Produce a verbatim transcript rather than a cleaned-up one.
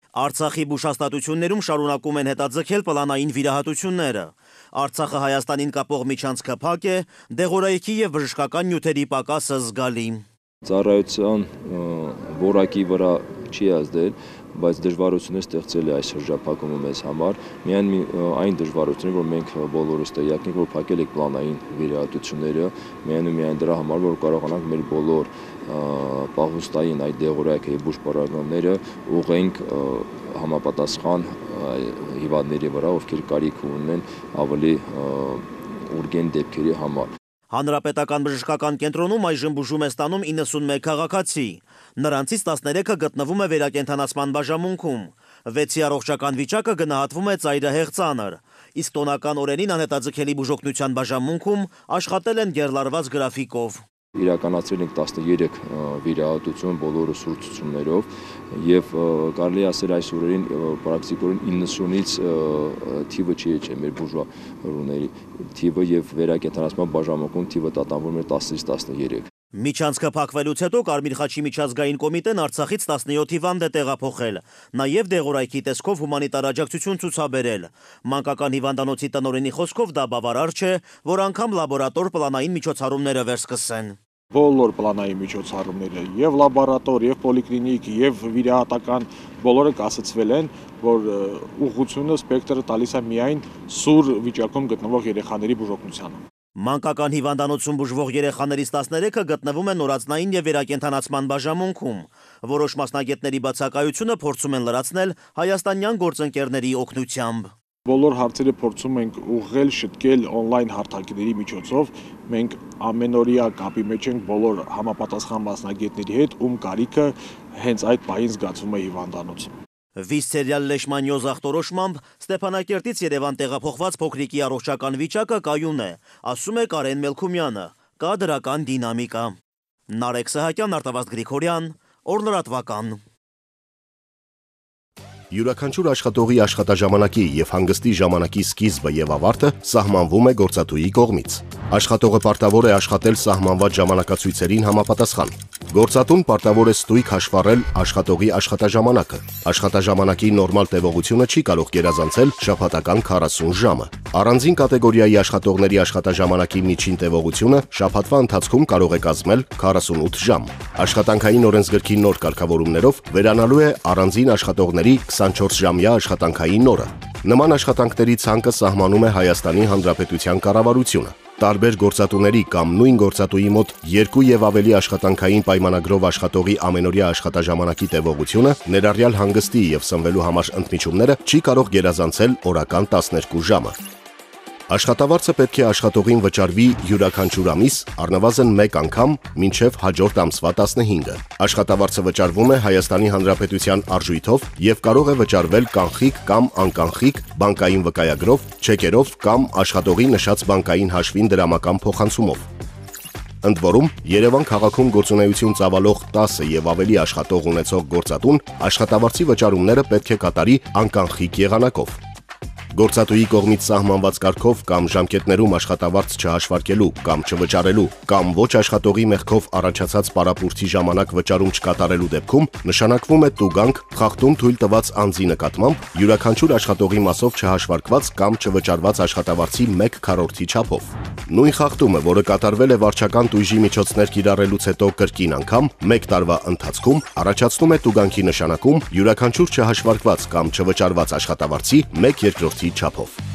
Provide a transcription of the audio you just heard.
Արցախի բուժհաստատություններում շարունակում են հետաձգել պլանային վիրահատությունները։ Արցախը Հայաստանին կապող միջանցքը փակ է, դեղորայքի եւ բժշկական նյութերի պակասը զգալի։ Ծառայության որակի վրա չի ազդել, բայց դժվարություններ ստեղծել է այս շրջափակումը մեզ համար։ Միայն այն դժվարությունները, որ մենք բոլորս տեղյակ ենք, որ փակել եք պլանային վիրահատությունները, միայն ու միայն դրա համար, որ կարողանանք մեր բոլոր պահուստային այդ դեղորայքը եւ բուժպարագաները ուղղենք համապատասխան հիվանդների վրա, ովքեր կարիք ունեն ավելի ուրգեն դեպքերի համար։ Հանրապետական բժշկական կենտրոնում այժմ բուժում է ստանում իննսունմեկ քաղաքացի։ Նրանցից տասներեքը գտնվում է վերակենդանացման բաժանմունքում։ վեցի առողջական վիճակը գնահատվում է ծայրահեղ ծանր։ Իսկ տոնական օրերին անհետաձգելի բուժօգնության բաժանմունքում աշխատել են գեռլարված գրաֆիկով։ Իրականացրել ենք տասներեք վիրահատություն բոլորը սուր ցուցումներով եւ կարելի ասել այս օրերին պրակտիկորեն իննսունից թիվը չի եղել մեր բուժվարուների թիվը եւ վերակենդանացման բաժանմունքում թիվը տատանվում է տասից տասներեք։ Միջանցքը փակվելուց հետո Կարմիր խաչի միջազգային կոմիտեն Արցախից տասնյոթ հիվանդ է տեղափոխել, նաև դեղորայքի տեսքով հումանիտար աջակցություն ցուցաբերել։ Մանկական հիվանդանոցի տնօրենի խոսքով դա բավարար չէ, որ անգամ լաբորատոր պլանային միջոցառումները վերսկսեն։ Բոլոր պլանային միջոցառումները եւ լաբորատոր, եւ պոլիկլինիկ, եւ վիրահատական բոլորը կասեցվել են, որ ուղղությունը սպեկտրը տալիս է միայն սուր վիճակում գտնվող երեխաների բուժօգնությանը։ Մանկական հիվանդանոցում բուժվող երեխաներից տասներեքը գտնվում են նորածնային եւ վերակենդանացման բաժանմունքում։ Որոշ մասնագետների բացակայությունը փորձում են լրացնել հայաստանյան գործընկերների օգնությամբ։ Բոլոր հարցերը փորձում ենք ուղղել, շտկել օնլայն հարթակների միջոցով։ Մենք ամենօրյա կապի մեջ ենք բոլոր համապատասխան մասնագետների հետ, ում կարիքը հենց այդ պահին զգացվում է հիվանդանոցում։ Վիսցերիալ լեշմանիոզ ախտորոշմամբ Ստեփանակերտից Երևան տեղափոխված փոքրիկի առողջական վիճակը կայուն է, ասում է Կարեն Մելքումյանը, կա դրական դինամիկա։ Նարեկ Սահակյան, Արտավազդ Գրիգորյան, Օրլրատվական։ Յուրաքանչյուր աշխատողի աշխատաժամանակի եւ հանգստի ժամանակի սկիզբը եւ ավարտը սահմանվում է գործատուի կողմից։ Աշխատողը պարտավոր է աշխատել սահմանված ժամանակացույցերին համապատասխան։ Գործատուն պարտավոր է ստույգ հաշվառել աշխատողի աշխատաժամանակը։ Աշխատաժամանակի նորմալ տևողությունը չի կարող գերազանցել շաբաթական քառասուն ժամը։ Առանձին կատեգորիայի աշխատողների աշխատաժամանակի միջին տևողությունը շաբաթվա ընթացքում կարող է կազմել քառասունութ ժամ։ Աշխատանքային օրենսգրքի նոր կարգավորումներով վերանալու է առանձին աշխատողների քսանչորս-ժամյա աշխատանքային օրը։ Նման աշխատանքների ցանկը սահմանում է Հայաստանի Հանրապետության կառավարությունը։ Տարբեր գործատուների կամ նույն գործատուի մոտ երկու եւ ավելի աշխատանքային պայմանագրով աշխատողի ամենօրյա աշխատաժամանակի տևողությունը, ներառյալ հանգստի եւ սնվելու համար ընդմիջումները, չի կարող գերազանցել օրական տասներկու ժամը։ Աշխատավարձը պետք է աշխատողին վճարվի յուրաքանչյուր ամիս առնվազն մեկ անգամ մինչև հաջորդ ամսվա տասնհինգը։ Աշխատավարձը վճարվում է Հայաստանի Հանրապետության արժույթով եւ կարող է վճարվել կանխիկ կամ անկանխիկ բանկային վկայագրով, չեկերով կամ աշխատողի նշած բանկային հաշվին դրամական փոխանցումով։ Ընդ որում, Երևան քաղաքում գործունեություն ծավալող տասը եւ ավելի աշխատող ունեցող գործատուն աշխատավարձի վճարումները պետք է կատարի անկանխիկ եղանակով։ Գործատուի կողմից սահմանված կարգով կամ ժամկետներում աշխատավարձ չհաշվարկելու կամ չվճարելու կամ ոչ աշխատողի մեղքով առաջացած պարապուրցի ժամանակ վճարում չկատարելու դեպքում նշանակվում է տուգանք խախտում թույլ տված անձի նկատմամբ յուրաքանչյուր աշխատողի մասով չհաշվարկված կամ չվճարված աշխատավարձի մեկ քառորդի չափով։ Նույն խախտումը, որը կատարվել է վարչական տույժի միջոցներ կիրառելուց հետո կրկին անգամ մեկ տարվա ընթացքում, առաջացնում է տուգանքի նշանակում յուրաքանչյուր չհաշվարկված կամ չվճարված աշխատավարձի մեկ երկրորդի չափով։